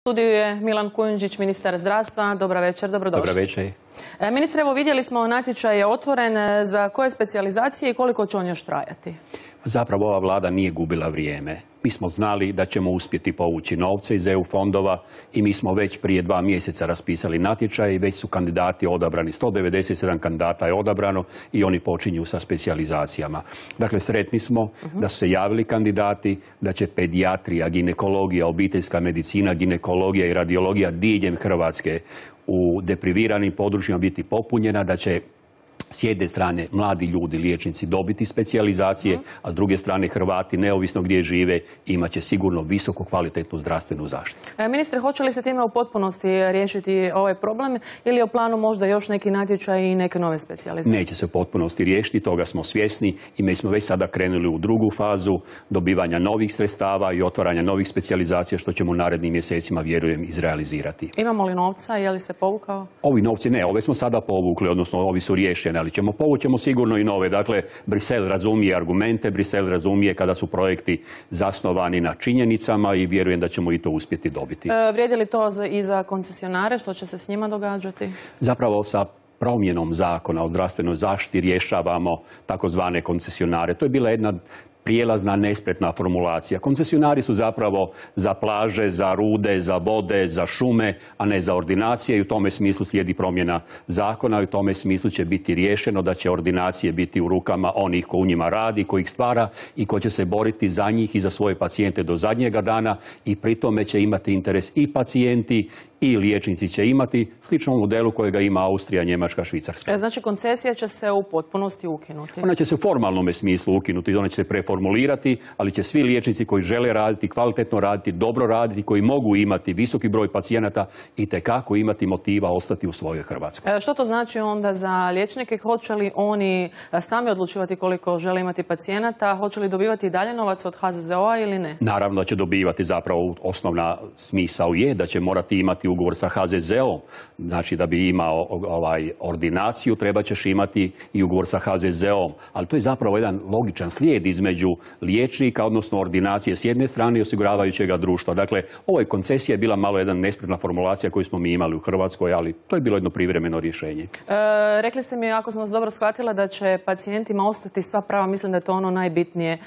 Studiju je Milan Kujundžić, ministar zdravstva. Dobar večer, dobrodošli. Dobar večer. Ministre, evo vidjeli smo, natječaj je otvoren. Za koje specijalizacije i koliko će on još trajati? Zapravo ova vlada nije gubila vrijeme. Mi smo znali da ćemo uspjeti povući novce iz EU fondova i mi smo već prije 2 mjeseca raspisali natječaj i već su kandidati odabrani. 197 kandidata je odabrano i oni počinju sa specijalizacijama. Dakle, sretni smo da su se javili kandidati, da će pedijatrija, ginekologija, obiteljska medicina, ginekologija i radiologija diljem Hrvatske u depriviranim područjima biti popunjena, da će s jedne strane mladi ljudi, liječnici dobiti specijalizacije, a s druge strane Hrvati, neovisno gdje žive, imat će sigurno visoko kvalitetnu zdravstvenu zaštitu. Ministre, hoće li se time u potpunosti riješiti ovaj problem ili je u planu možda još neki natječaj i neke nove specijalizacije? Neće se u potpunosti riješiti, toga smo svjesni i mi smo već sada krenuli u drugu fazu dobivanja novih sredstava i otvaranja novih specijalizacija, što ćemo u narednim mjesecima, vjerujem, izrealizirati. Imamo li novca? Je li se povukao? Ovi novci ne, ove smo sada povukli, odnosno ovi su riješeni, ali povućemo sigurno i nove. Dakle, Brisel razumije argumente, Brisel razumije kada su projekti zasnovani na činjenicama i vjerujem da ćemo i to uspjeti dobiti. Vrijedi li to i za koncesionare? Što će se s njima događati? Zapravo sa promjenom zakona o zdravstvenoj zaštiti rješavamo takozvane koncesionare. To je bila jedna prijelazna, nespretna formulacija. Koncesionari su zapravo za plaže, za rude, za vode, za šume, a ne za ordinacije i u tome smislu slijedi promjena zakona i u tome smislu će biti riješeno da će ordinacije biti u rukama onih ko u njima radi, ko ih stvara i ko će se boriti za njih i za svoje pacijente do zadnjega dana i pri tome će imati interes i pacijenti i liječnici će imati sličnom modelu kojega ima Austrija, Njemačka, Švicarska. Znači koncesija će se u potpunosti ukinuti? Ona će se u formalnom smislu ukinuti, ona će se preformulirati, ali će svi liječnici koji žele raditi, kvalitetno raditi, dobro raditi, koji mogu imati visoki broj pacijenata itekako imati motiva ostati u svojoj Hrvatskoj. Što to znači onda za liječnike? Hoće li oni sami odlučivati koliko žele imati pacijenata? Hoće li dobivati i dalje novac od HZZO-a ili ne? Naravno da će dobivati, zapravo osnovna smisao je da će morati imati ugovor sa HZZO-om. Znači da bi imao ordinaciju treba ćeš imati i ugovor sa HZZO-om. Ali to je zapravo jedan logičan slijed između liječnika, odnosno ordinacije s jedne strane i osiguravajućega društva. Dakle, ovoj koncesija je bila malo jedna nespretna formulacija koju smo mi imali u Hrvatskoj, ali to je bilo jedno privremeno rješenje. Rekli ste mi, ako sam vas dobro shvatila, da će pacijentima ostati sva prava. Mislim da je to ono najbitnije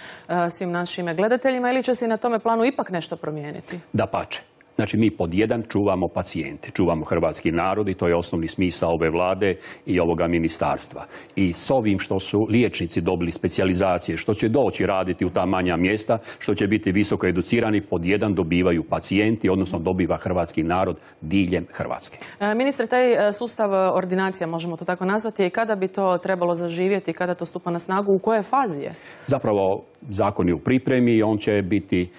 svim našim gledateljima, ili će se i na tome planu ipak nešto promijeniti? Dapače. Znači, mi pod jedan čuvamo pacijente, čuvamo hrvatski narod i to je osnovni smisao ove vlade i ovoga ministarstva. I s ovim što su liječnici dobili specijalizacije, što će doći raditi u ta manja mjesta, što će biti visoko educirani, pod jedan dobivaju pacijenti, odnosno dobiva hrvatski narod diljem Hrvatske. Ministre, taj sustav ordinacija, možemo to tako nazvati, kada bi to trebalo zaživjeti, kada to stupa na snagu, u kojoj fazi je? Zapravo, zakon je u pripremi i on će biti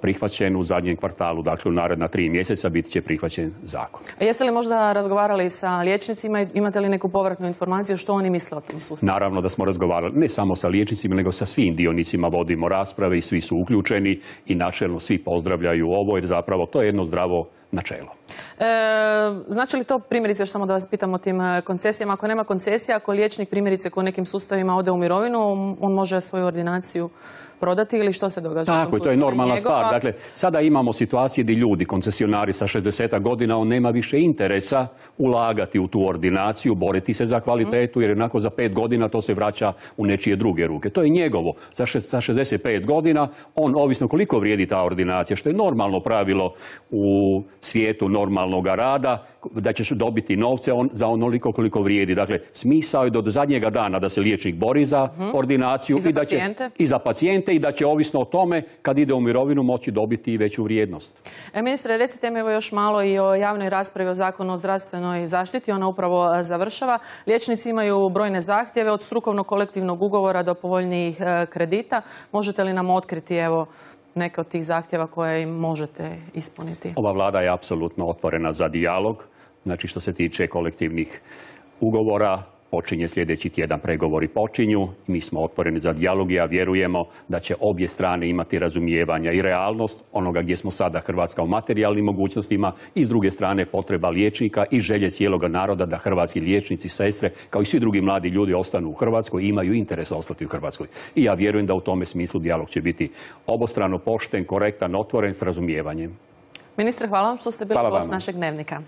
prihvaćen u zadnjem kvartalu, dakle u naredna 3 mjeseca biti će prihvaćen zakon. Jeste li možda razgovarali sa liječnicima i imate li neku povratnu informaciju što oni misle o tom sustavu? Naravno da smo razgovarali ne samo sa liječnicima, nego sa svim dionicima vodimo rasprave i svi su uključeni i načelno svi pozdravljaju ovo jer zapravo to je jedno zdravo načelo. Znači li to, primjerice, još samo da vas pitam o tim koncesijama, ako nema koncesija, ako liječnik primjerice ko nekim sustavima ode u mirovinu, on može svoju ordinaciju prodati ili što se događa? Tako, to je normalna stvar. Dakle, sada imamo situacije gdje ljudi, koncesionari sa 60 godina, on nema više interesa ulagati u tu ordinaciju, boriti se za kvalitetu, jer jednako za 5 godina to se vraća u nečije druge ruke. To je njegovo. Sa 65 godina, on, ovisno koliko vrijedi ta ordinacija, što je normalno pravilo u svijetu normalnog rada, da ćeš dobiti novce za onoliko koliko vrijedi. Dakle, smisao je do zadnjega dana da se liječnik bori za ordinaciju i za pacijente i da će ovisno o tome kad ide u mirovinu moći dobiti i veću vrijednost. Ministre, recite mi evo još malo i o javnoj raspravi o zakonu o zdravstvenoj zaštiti. Ona upravo završava. Liječnici imaju brojne zahtjeve od strukovnog kolektivnog ugovora do povoljnijih kredita. Možete li nam otkriti evo neke od tih zahtjeva koje im možete ispuniti? Ova vlada je apsolutno otvorena za dijalog. Znači, što se tiče kolektivnih ugovora, počinje sljedeći tjedan, pregovori počinju. Mi smo otvoreni za dijalog i ja vjerujemo da će obje strane imati razumijevanja i realnost onoga gdje smo sada Hrvatska u materijalnim mogućnostima i s druge strane potreba liječnika i želje cijeloga naroda da hrvatski liječnici, sestre, kao i svi drugi mladi ljudi ostanu u Hrvatskoj i imaju interes ostati u Hrvatskoj. I ja vjerujem da u tome smislu dijalog će biti obostrano pošten, korektan, otvoren s razumijevanjem. Ministre, hvala vam što ste bili Hvala gost vama. našeg Dnevnika.